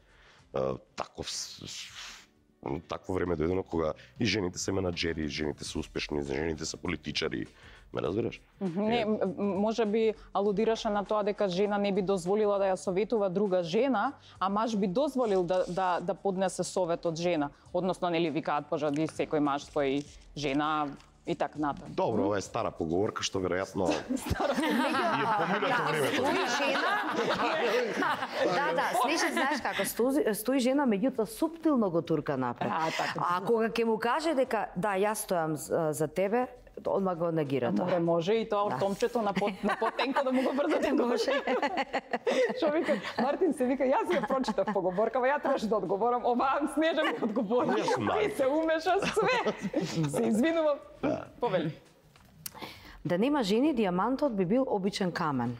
такво време дојдено кога и жените се менаџери, и жените се успешни, жените се политичари. Ме разбираш? Не, може би алудираше на тоа дека жена не би дозволила да ја советува друга жена, а маж би дозволил да поднесе совет од жена. Односно, нели викаат пожади секој маж свој жена и така натаму. Добро, ова е стара поговорка што веројатно е поминато времето. Стои жена. Да, Снежи, знаеш како, стои жена, меѓутоа суптилно го турка напред. А кога ќе му каже дека да, јас стојам за тебе, одма го негира тоа. Може и тоа ортомчето на потенко да му го брзате. Може. Што вика, Мартин се вика, јас ја прочитав поговоркава, ја требаше да одговорам, оваа Снежа ми одговори. Јас знам. И се умеша све. Се извинувам. Повели. Да нема жени, дијамантот би бил обичен камен.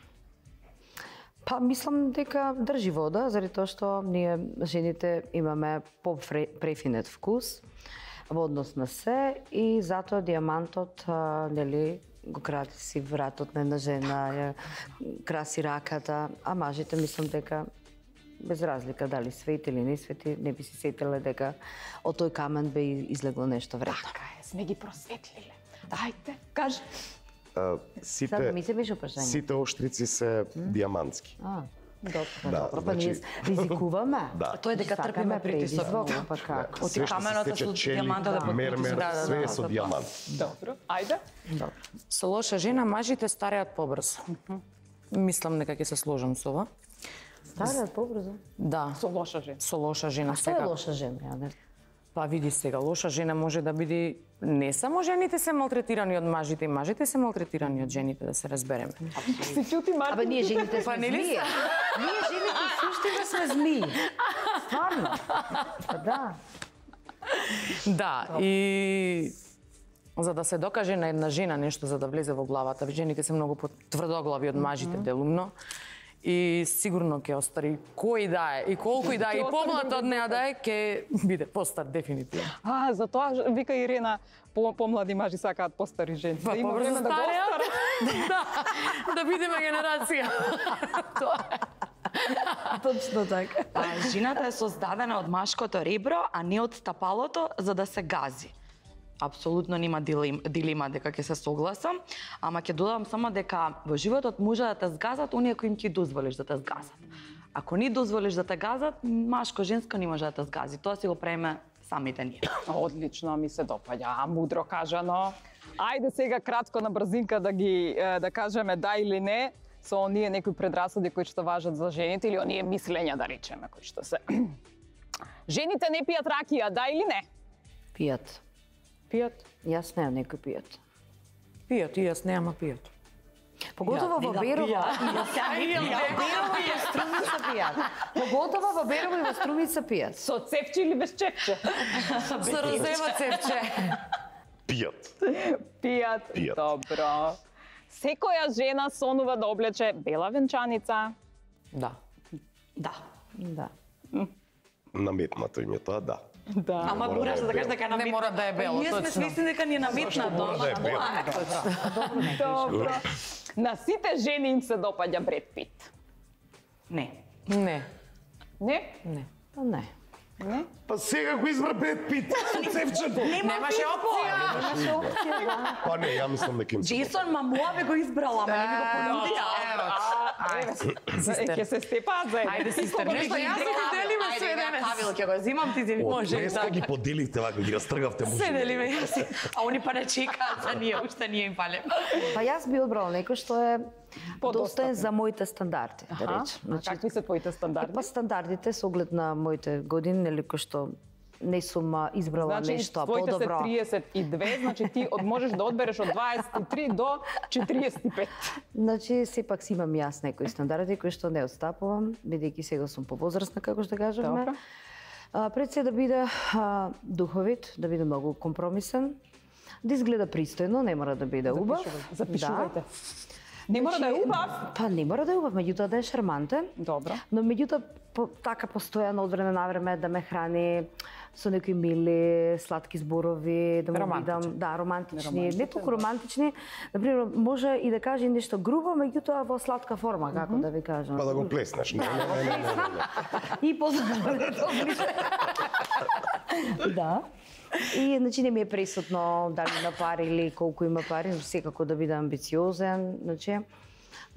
Па мислам дека држи вода, заради тоа што ние жените имаме по-префинет вкус во однос на се и затоа дијамантот нели го краси вратот на една жена, ја краси раката, а мажите мислам дека без разлика дали свети или не свети, не би си сетиле дека од тој камен би излегло нешто вредно. Така е, сме ги просветлиле. Ајде, кажи. Сега ми се беше прашање. Сите оштрици се дијамантски. Добро, па ние ризикуваме. Да. Тоа е дека трпиме притисок. Па како? Од каменот со дијамантот да мермер, све е со дијамант. Добро, ајде. Со лоша жена мажите стареат побрзо. Мислам дека ќе се сложам со ова. Стареат побрзо. Да, Со лоша жена. со лоша жена Што е секако. лоша жена? Ја не. Па види сега, лоша жена може да биде не само жените се малтретирани од мажите, и мажите се малтретирани од жените, да се разбереме. Си чути, Мартин? Абе ние жените Па сме нели змии. Ние жените суштина сме змии. Стварно. Па да. Да, и за да се докаже на една жена нешто за да влезе во главата, жените се многу потврдоглави од мажите делумно. И сигурно ќе остари кој да е и колку и да е и помлад од неа да е, ќе биде постар дефинитивно. Затоа вика Ирена, помлади мажи сакаат постари жени. Па има побрзо време да го стареат. остарат. Да бидеме генерација. Тоа е. Точно така. Жената е создадена од машкото ребро, а не од стапалото за да се гази. Апсолутно нема дилема дека ќе се согласам, ама ќе додам само дека во животот може да те згазат оние кои им ќе дозволиш да те згазат. Ако не дозволиш да те газат, машко-женско не може да те згази. Тоа си го правиме самите ние. Одлично, ми се допаѓа, мудро кажано. Ајде сега кратко на брзинка да кажеме да или не со оние некои предрасуди кои што важат за жените или оние мислења да речеме кои што се. Жените не пијат ракија, да или не? Пијат. Пијат. Јас не, некој пијат. Пијат, и јас не, ама пијат. Поготово во Берово и во Берово и во Струмица пијат. Поготово во Берово и во Струмица пијат. Со цепче или без чепче? Со розева цепче. Пијат. Пијат. Пијат. Добро. Секоја жена сонува да облече бела венчаница. Да. Да. Да. Наметнато им е тоа, да. Да. Ама мора мораш да е да кажеш бело. дека е Не наметнато. мора да е бело, Ние сме точно. свесни дека ни е наметнато. мора да е бело? Добро. На сите жени им се допаѓа Бред Пит. Не. Не. Не? Не. Па не. Не? Па сега го избра Бред Пит, цевчето. Немаше опција. Па не, ја мислам дека им се Джейсон Мамоа бе го избрала, ама не ми го понудија. Ќе се степаат за Ајде, сестер, нешто јас ќе делиме све денес. Кавил ќе го земам, ти земи. Од днеска ги поделивте вака, ги растргавте мужи. Се делиме јас. А они па не чекаат за ние, уште ние им палем. Па јас би одбрала некој што е достоен за моите стандарди, да Аха. речем. А какви се твоите стандарди? Па стандардите со оглед на моите години, нели кој што не сум избрала Значи, нешто твоите се подобро. 32, значи ти можеш да одбереш од 23 до 45. Значи, сепак си имам јас некои стандарди кои што не отстапувам, бидејќи сега сум повозрастна, како што кажавме. Добро. Пред се да биде духовит, да биде многу компромисен, да изгледа пристојно, не мора да биде убав. Запишувајте. Не мора да е убав. Па не мора да е убав, меѓутоа да е шармантен. Добро. Но меѓутоа така постојано од време на време да ме храни со некои мили, сладки зборови, да му Романтични. бидам, да, романтични, не толку романтични, например, може и да каже нешто грубо, меѓутоа во сладка форма, како да ви кажам. Па да го плеснеш. Не. И позабавно да. И значи не ми е пресутно дали има пари или колку има пари, но секако да биде амбициозен, значи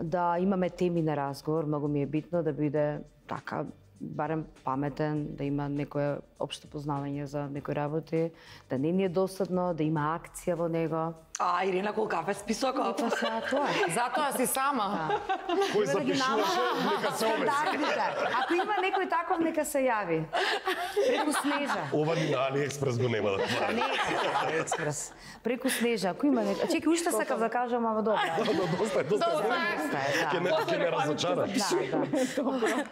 да имаме теми на разговор, многу ми е битно да биде така барем паметен, да има некое општо познавање за некои работи, да не ни е досадно, да има акција во него. А, Ирина, колку кафе списокот. Па сега тоа е. Затоа си сама. Кој запишуваше, нека се обеси. Стандардите. Ако има некој таков, нека се јави. Преку Снежа. Ова ни на Алиекспрес го нема да Па не, Алиекспрес. Преку Снежа. Ако има некој... Чеки, уште сакав да кажам, ама добро. Доста е. Ќе не разочараш. Да.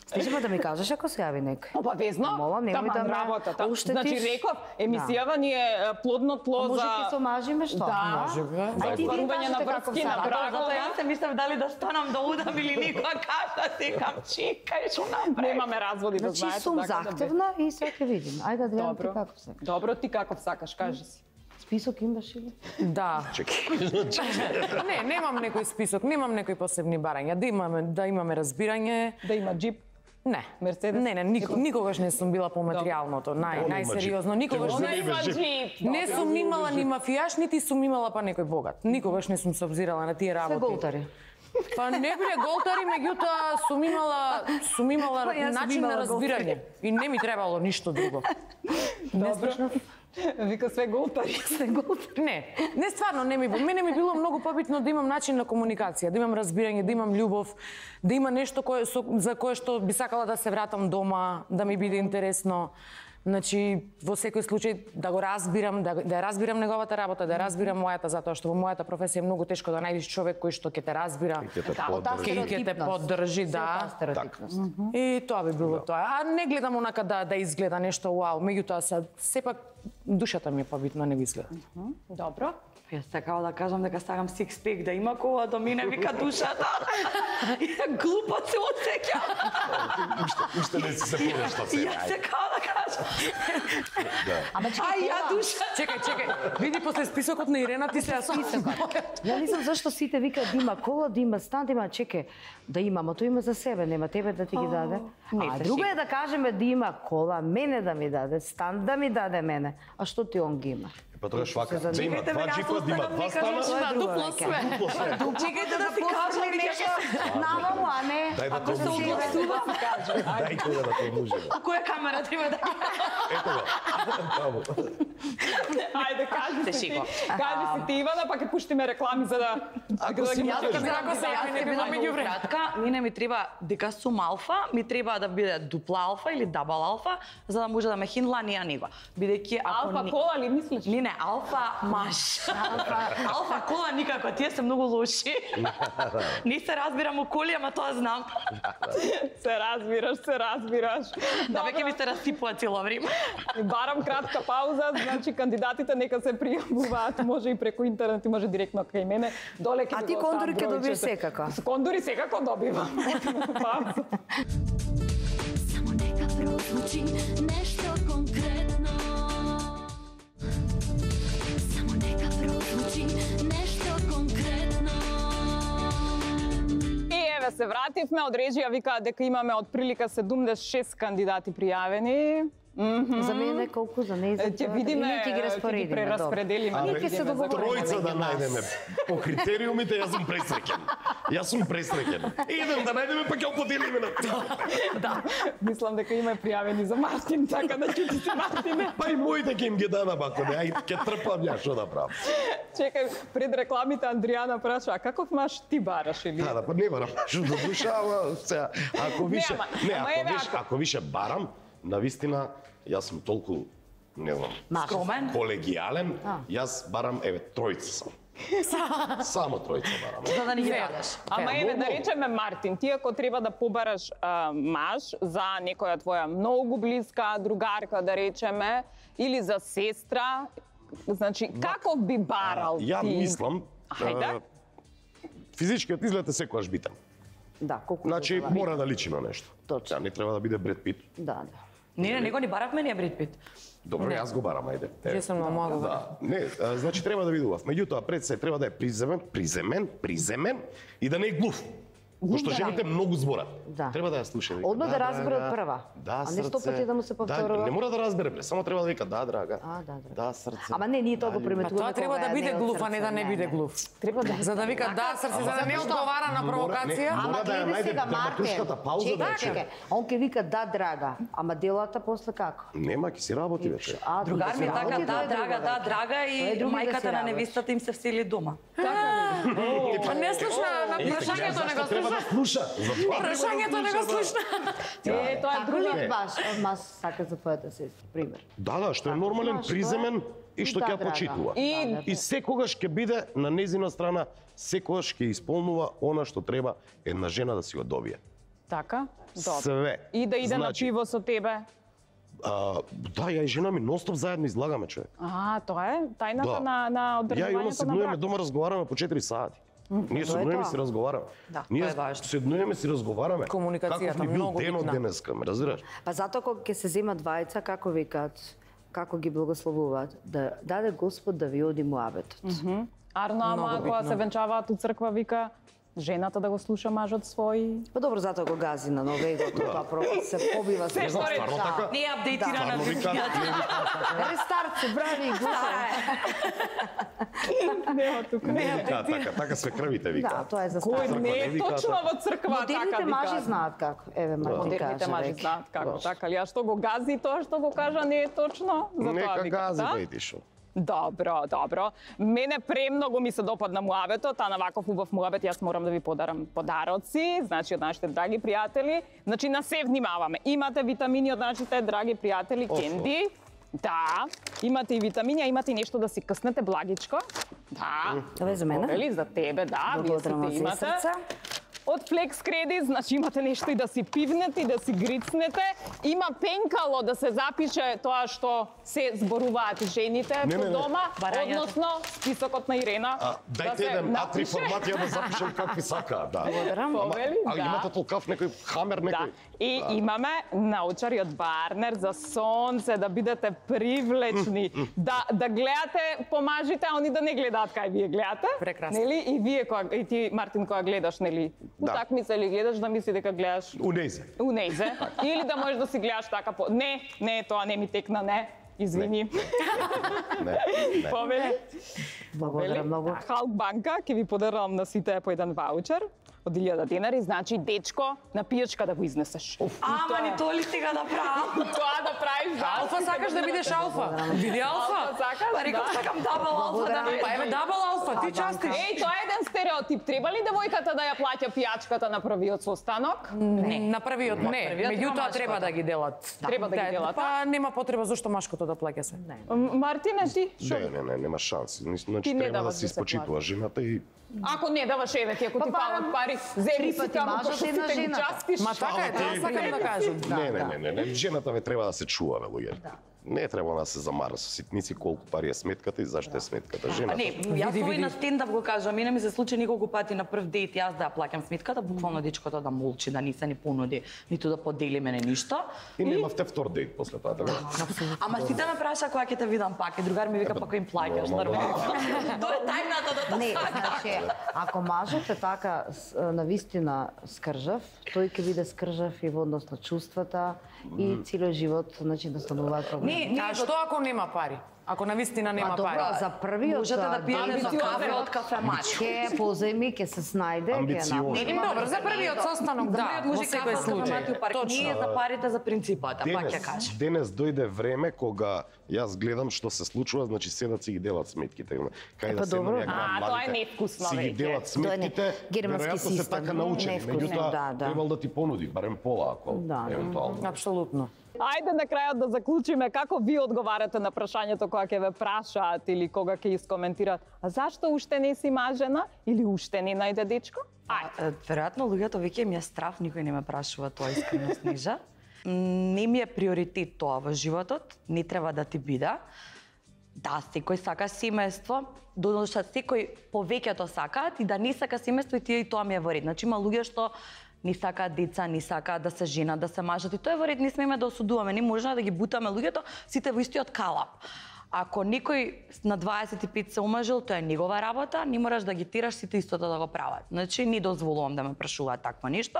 Стежи да ми кажеш ако се јави некој. Па везно, Молам, немој да ме работата. оштетиш. Значи реков, емисијава ни е плодно тло Може за... ти се омажиме што? Да, Може би. за Ај ти остварување на кажете како врски, на сакате. бракове. Јас се мислам дали да станам да удам или никоја кажа секам чекај што направи. Немаме разводи, да Значи знаете. сум така да захтевна и сега ќе видим. Ајде да гледам ти Добро. како сакаш. Добро, ти каков сакаш, кажи си. Список имаш или? Да. Не, немам некој список, немам некои посебни барања. Да имаме разбирање. Да има джип. Не. Мерцедес? Не, никогаш не сум била по материјалното, најсериозно. Никогаш Она не има джип. Не сум имала ни мафијаш, нити сум имала па некој богат. Никогаш не сум се обзирала на тие Се работи. голтари. Па не биле голтари, меѓутоа сум имала Па јас сум начин на имала разбирање и не ми требало ништо друго. Добро. Вика све голтари. Не стварно мене ми било многу побитно да имам начин на комуникација, да имам разбирање, да имам љубов, да има нешто за кое што би сакала да се вратам дома, да ми биде интересно. Значи, во секој случај да го разбирам, да ја разбирам неговата работа, да ја разбирам мојата, затоа што во мојата професија е многу тешко да најдеш човек кој што ќе те разбира, Ќе те поддржи. и ќе те поддржи, да. Стереотипност. И тоа би било тоа. А не гледам онака да изгледа нешто вау, меѓутоа сепак душата ми е побитно, не го изгледа. Добро. Јас сакала да кажам дека сакам сикс-пек, да има кола до мене, вика душата. Глупо се осеќам. Уште не си се повешта се. Јас сакала да кажам. Ама Ај, ја душа. Чекај, види после списокот на Ирена ти се списокот. Ја не знам зашто сите викаат да има кола, да има стан, да има чеке. Да има, но тоа има за себе, нема тебе да ти ги даде. А друго е да кажеме да има кола, мене да ми даде, стан да ми даде мене. А што ти он ги има? Па тогаш вака, Се да има Чекайте, два јас джипа, да има останам два нека стана. рече. Тоа е друго дупло веќе. све. Дупло све. Чекајте да си кажам После нешто наваму, а не... Дај да Ако се помниш. огласува, Дај кога да помниш. која камера треба да Ето го. Таму. Ајде, кажи си ти. Кажи си ти, Ивана, па ќе пуштиме реклами за да... Ако си ги кажеш, можеш Ако се јави Јас некој бидам меѓу многу време. кратка, мене ми треба дека сум алфа, ми треба да биде дупла алфа или дабл алфа, за да може да ме хиндла ние него. Бидејќи ако Алфа кола ли мислиш? Не, алфа маж. Алфа кола никако, тие се многу лоши. Не се разбирам о коли, ама тоа знам. Се разбираш. Да веќе ми се расипува цело време. Барам кратка пауза, значи кандидатите нека се пријавуваат, може и преку интернет, и може директно кај мене. Доле ќе А ви ти го кондури оставам ќе добиеш бројчето. секако. Кондури секако добивам. Пауза. Само нека прозвучи нешто конкретно. Само нека прозвучи нешто конкретно. И еве се вративме, од режија викаат дека имаме од прилика 76 кандидати пријавени. За мене колку, за неј за Ќе видиме, ние ќе ги ќе ги распоредиме. прераспределиме. Ние ќе се договориме. Тројца да меѓу нас. најдеме по критериумите, јас сум пресреќен. Јас сум пресреќен. Идем да најдеме па ќе го поделиме на Да, мислам дека има пријавени за Мартин, така да ќе ти се Мартине. Па и моите ќе им ги дадам ако не, ај ќе трпам ја што да правам. Чекај, пред рекламите Андријана праша, а каков маш ти бараш или? Да, па не барам што да душа, ама сега ако више, ама еве, ако више барам, навистина јас сум толку не знам, Скромен. колегијален, јас барам еве тројца сам. Само тројца барам. За да ни ги дадеш. Ама еве да речеме Мартин, ти ако треба да побараш маж за некоја твоја многу блиска другарка да речеме или за сестра, значи каков би барал ти? Ја мислам, Хајде. физичкиот изглед е секогаш битен. Да, колку. Значи да, мора да личи на нешто. Точно. Ја не треба да биде Бред Пит. Да. Не, него ни баравме ние Бред Пит. Добро, јас го барам, ајде. Често многу. Да, не, значи треба да видував. Меѓутоа пред се треба да е приземен и да не е глув. Пошто жените многу зборат. Да. Треба да ја слуша. Вика, Одма да разбере од прва. Да, А не сто срце. пати да му се повторува. Да, не мора да разбере, бре, само треба да вика да, драга. Да. Да, срце. Ама не, ние тоа го Па приметуваме. тоа треба кога да биде е од глув, а не срце, да не биде глув. Треба да. За да вика да срце, за да не одговара на провокација. Мора Ама да ја гледај најде сега драматуршката Мартин. пауза да ја Чекај, чуе. он ќе вика да драга, ама делата после како? Нема, ќе си работи вече. Другар ми така, да, драга, да, драга Тоа е и други да мајката си на работи. невестата им се всели дома. Па не слушна, на прашањето не го Треба да слушна. слуша. Затоа треба да Прашањето не го слушна. Тоа е Како друга. ли баш сака за твојата сестра, пример? Да, што е нормален, Знаеш, приземен и што да, ќе ја драга. почитува. И И секогаш ќе биде на незина страна, секогаш ќе исполнува она што треба една жена да си го добие. така? Добро. Све. И да иде на Значи, пиво со тебе. Да, ја и жена ми ностоп заедно излагаме, човек. Тоа е тајната Да. на Ја и она одржувањето на седнуваме брак. дома разговараме по 4 сати. Ние тоа е седнуваме тоа. си разговараме. Да, Ние тоа е важно. седнуваме си разговараме. Комуникацијата Каков ти бил многу денот битна. денеска, ме разбираш? Па затоа кога ќе се земат двајца, како викаат, како ги благословуваат, да даде Господ да ви оди муабетот. Арно, ама Многу кога битно. се венчаваат у црква вика жената да го слуша мажот свој. Па добро, затоа го гази на новегото, тоа се побива се. Не знам, Се стварно така? Не е апдейтирана Стварно вика, Рестарт се брави и глупа. Нема тука. така се крвите Да, вика. тоа е за Кој старт. не е вика точно така. во црква така Модерните мажи вика. знаат како. Еве, Мартин Модерните каже мажи веќе. знаат како, така ли? А што го гази тоа што го кажа не е точно? Затоа Нека вика, гази, да? бе, ти шо. Добро. Мене премногу ми се допадна муабетот, а на ваков убав муабет јас морам да ви подарам подароци, значи од нашите драги пријатели. Значи на се внимаваме. Имате витамини од нашите драги пријатели Кенди. Да, имате и витамини, а имате и нешто да си къснете благичко. Да. Тоа е за мене. Вели за тебе, да, вие Благодарам сите од имате. срца. Од Flex Credit, значи имате нешто и да си пивнете и да си грицнете. Има пенкало да се запише тоа што се зборуваат жените Не, по не, не. дома, Барањата. односно списокот на Ирена. Дајте еден А3 формат ја да запишам какви сака, да. Благодарам. Повели, А имате толкав некој хамер Да. некој? И имаме научари од Барнер за сонце, да бидете привлечни, да гледате помажите, а они да не гледаат кај вие гледате. Прекрасно. Нели? И вие и ти Мартин кога гледаш, нели? Да. Утакмица или гледаш да мисли дека гледаш Унезе. у нејзе. Или да можеш да си гледаш така по... Не, тоа не ми текна, не. Извини. Не. Повели. Благодарам многу. Халк банка ќе ви подарам на сите по еден ваучер од 1000 денари, значи дечко на пијачка да го изнесеш. Ама ни то ли сега да правам? Тоа да правиш, да. Алфа сакаш да бидеш алфа? Биди алфа. Сакаш? Па реков Да. сакам дабл алфа да Па еве дабл алфа, ти частиш. Еј, тоа е еден стереотип. Треба ли девојката да ја плаќа пијачката на првиот состанок? Не. На првиот не, првиот има меѓутоа машкото. треба да ги делат. Треба да ги делат, Па нема потреба зошто машкото да плаќа се. Мартине, ти? Шо? Не, нема шанси. Значи Ти не треба да даваш се да се испочитува жената и Ако не даваш еве ти, ако ти Па, фалат пари, земи си пати таму мажот, пошто една сите ги жената. частиш. Ма така е, тоа сакам да кажам. не, жената ве треба да се чува, бе, луѓе. Не треба да се замара со ситници колку пари е сметката и зашто е сметката. Жената. Не, јас овој на стендап го кажам, мене ми се случи неколку пати на прв дејт јас да ја плаќам сметката, буквално дечкото да молчи, да ни се ни понуди, ниту да подели мене ништо. И немавте втор дејт после тоа, така? Ама сите ме праша кога ќе те видам пак, и другар ми вика па кој им плаќаш, нормално. Тоа е тајната да Не, значи, ако мажот е така навистина скржав, тој ќе биде скржав и во однос на чувствата и целиот живот, значи да стануваат проблеми. А што ако нема пари? Ако навистина нема пари? Добро, за првиот Можете да пиете за кафе од кафемат. ќе позајми, ќе се снајде, ќе Амбициозно. направи. Добро, за првиот состанок, да, Првиот во може секој кафе од случај. кафемат и у парк. Ние за парите за принципата, пак ќе кажам. Денес дојде време кога јас гледам што се случува, значи седат си ги делат сметките. Кај да добро. седнат ја Тоа е невкусно си ги веќе. делат сметките, германски веројатно се систем, така научени, невкусно, меѓутоа да. требал да ти понуди барем пола ако Да. евентуално. Апсолутно. Ајде на крајот да заклучиме како ви одговарате на прашањето кога ќе ве прашаат или кога ќе искоментираат. А зашто уште не си мажена или уште не најде дечко? Ајде. Веројатно луѓето веќе ми е страв, никој не ме прашува тоа искрено, Снежа. Не ми е приоритет тоа во животот, не треба да ти биде. Да, секој сака семејство, додошта секој повеќето сакаат и да не сака семејство и тие и тоа ми е во ред. Значи има луѓе што не сакаат деца, не сакаат да се женат, да се мажат и тоа е во ред, не смееме да осудуваме, не можеме да ги бутаме луѓето сите во истиот калап. Ако некој на 25 се омажил, тоа е негова работа, не мораш да ги тераш сите истото да го прават. Значи не дозволувам да ме прашуваат такво нешто.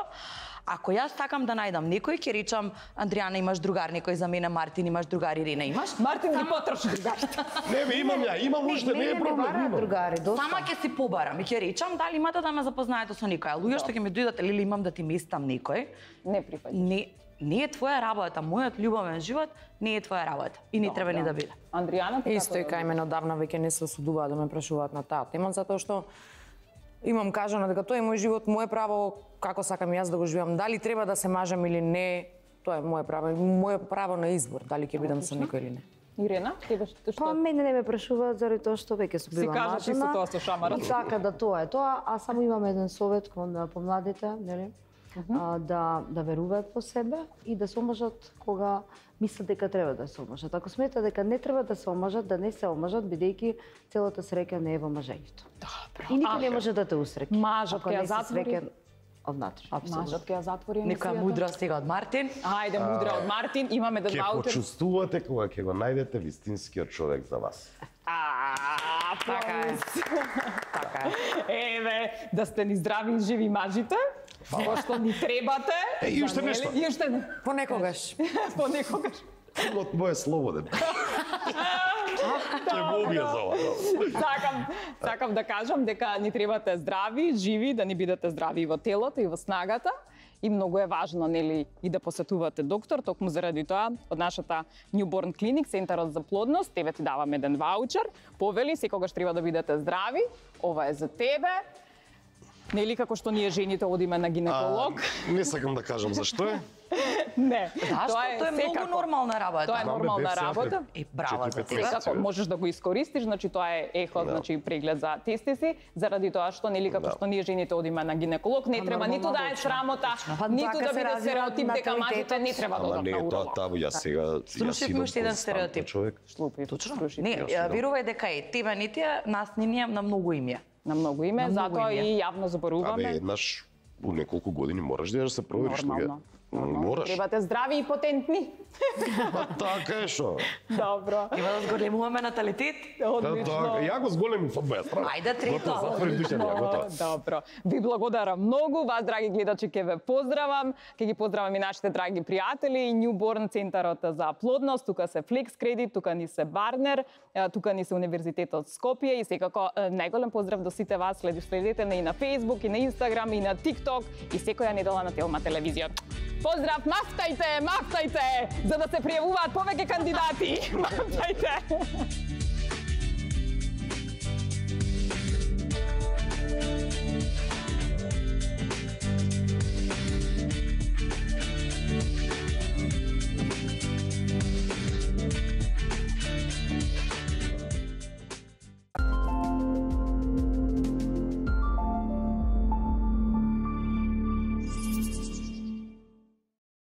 Ако јас сакам да најдам некој, ќе речам Андријана имаш другар, некој за мене Мартин имаш другар, Ирина имаш. Мартин ги потроши другарите. Не бе, имам ја, имам уште, не е проблем. имам. Другари, доста. Сама ќе си побарам и ќе речам дали имате да ме запознаете со некој. А луѓе што ќе ми дојдат или имам да ти местам некој, Не прифаќам. не е твоја работа, мојот љубовен живот не е твоја работа и не треба ни да биде. Андријана, ти Исто и кај мене одавна веќе не се осудуваат да ме прашуваат на таа тема, затоа што имам кажано дека тоа е мој живот, мое право, како сакам јас да го живеам. Дали треба да се мажам или не, тоа е мое право на избор, дали ќе бидам со некој или не. Ирена, тебе што? Па мене не ме прашуваат заради тоа што веќе сум била кажа ти со мажена. тоа со шамарот. И така да тоа е тоа, а само имам еден совет кон помладите, нели? Да веруваат во себе и да се омажат кога мислат дека треба да се омажат. Ако сметат дека не треба да се омажат, да не се омажат, бидејќи целата среќа не е во мажењето. Добро. И никој не може да те усреќи. Мажот ако ќе ја не си затвори? среќен однатре. Мажот ќе ја затвори Некоја емисијата? мудра сега од Мартин. Ајде, мудра од Мартин, имаме да Ќе ваучер. почувствувате кога ќе го најдете вистинскиот човек за вас. Така е. Така е. Еве, да сте ни здрави и живи мажите, што ни требате. И уште за, нели? нешто. И уште не. Понекогаш. Понекогаш. От мој е слободен. Ќе го убија за ова. Сакам да кажам дека ни требате здрави, живи, да ни бидете здрави и во телото и во снагата. И многу е важно, нели, и да посетувате доктор, токму заради тоа, од нашата Newborn Clinic, Центарот за плодност, тебе ти давам еден ваучер, повели, секогаш треба да бидете здрави, ова е за тебе. Нели, како што ние жените одиме на гинеколог. Не сакам да кажам зашто е. Не, Зашто? Тоа е многу нормална работа. Тоа е нормална работа. И браво за тебе. Секако можеш да го искористиш, значи тоа е ехо, значи преглед за тестиси, заради тоа што нели како што ние жените одиме на гинеколог, не треба ниту да е срамота, ниту да биде стереотип дека мажите не треба да Ама одат не на е тоа уролог. табу, јас сега Слушавме уште еден константно стереотип. човек. Шлупи, Точно? слушай. Не, верувај дека е тебе не тие, нас не ние на многу име. На многу име, На многу затоа име. и јавно Абе, зборуваме. еднаш у неколку години мораш да се провериш Нормално. Мораш. Требате здрави и потентни. Па така е шо. Добро. Има да зголемуваме наталитет. Одлично. Ја го зголемим од моја страна. Ајде, трето. Готово, затвори душен, ја готово. Добро. Ви благодарам многу. Вас, драги гледачи, ќе ве поздравам. Ќе ги поздравам и нашите драги пријатели и Newborn Центарот за плодност. Тука се Flex Credit, тука ни се Барнер, тука ни се Универзитетот Скопје и секако најголем поздрав до сите вас. Следете и на Facebook, и на Instagram, и на TikTok и секоја недела на Телма телевизија. Поздрав, мафтајте, за да се пријавуваат повеќе кандидати. Мафтајте.